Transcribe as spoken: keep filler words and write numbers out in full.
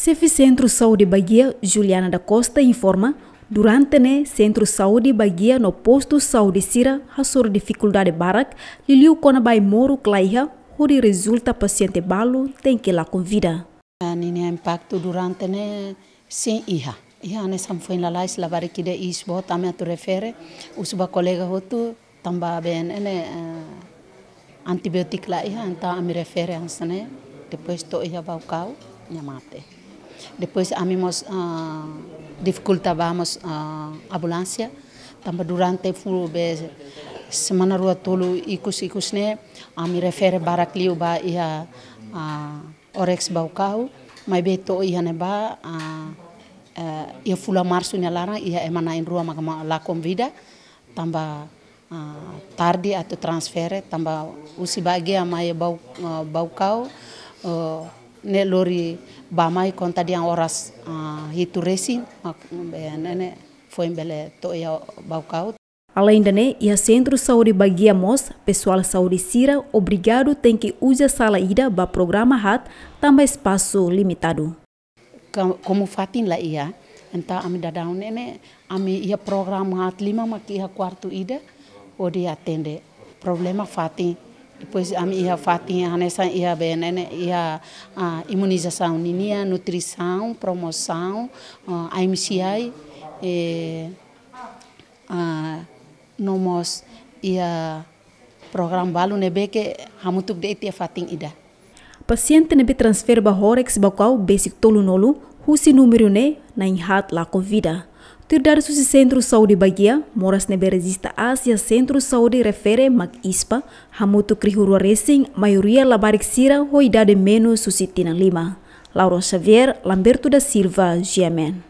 Xefe Sentru Saúde Baguia, Juliana da Costa, informa, durante ne'e Sentru Saúde Baguia no postu saúde sira hasoru difikuldade barak, liuliu kona-ba ai-moruk la iha, hodi rezulta pasiente balu tenke lakon vida. Ah, ninia impaktu durante ne'e sin iha. Iha hanesan foin lalais labarik ida iis boot ami atu refere, husu ba kolega hotu, tanba B N N, eh, antibiotik la iha, entaun ami refere hanesan ne'e, depois to'o iha Baucau, nia mate. Depois ami mós, ah, difikulta ba mós, ah, ambulánsia, tanba durante full be semana rua tolu ikus-ikus ne'e, ami refere barak liu ba iha, ah, OREX Baucau, maibé to'o iha ne'ebá, ah, eh, iha fulan Marsu nia laran, iha ema na'in-rua maka ma-, lakon vida, tanba, ah, tarde atu transfere, tanba husi Baguia mai Bau-, ah, Baucau, eh, ne'e lori bá mai konta dehan oras, ah, hitu resin, mak-, be, ne'e, ne'e, foin bele to'o iha Baucau. Alende ne'e, iha Sentru Saúde Baguia mós, pesoál saúde sira obrigadu tenke uza sala ida ba programa haat, tanba espasu limitadu. Ka-, komu fatin la iha, entaun ami daudaun ne'e ne'e, ami iha programa haat lima mak iha kuartu ida, hodi atende. Problema fatin. Depois ami iha fatin hanesan iha B N N, iha, ah, imunizasaun ninia, nutrisaun, promosaun, ah, I M C I, eh, ah, no mós iha programa balu ne'ebé ke hamutuk de'it iha fatin ida. Pasiente ne'ebé transfere ba OREX Baucau besik tolunulu, husi númeru ne'e na'in-haat lakon vida. Tuir dadus husi Sentru Saúde Baguia, moras ne'ebé rejista aas iha Sentru Saúde refere mak ispa, hamutuk rihun rua resin, maioria labarik sira ho idade menus husi tinan lima. Laura Xavier, Lamberto da Silva, G M N.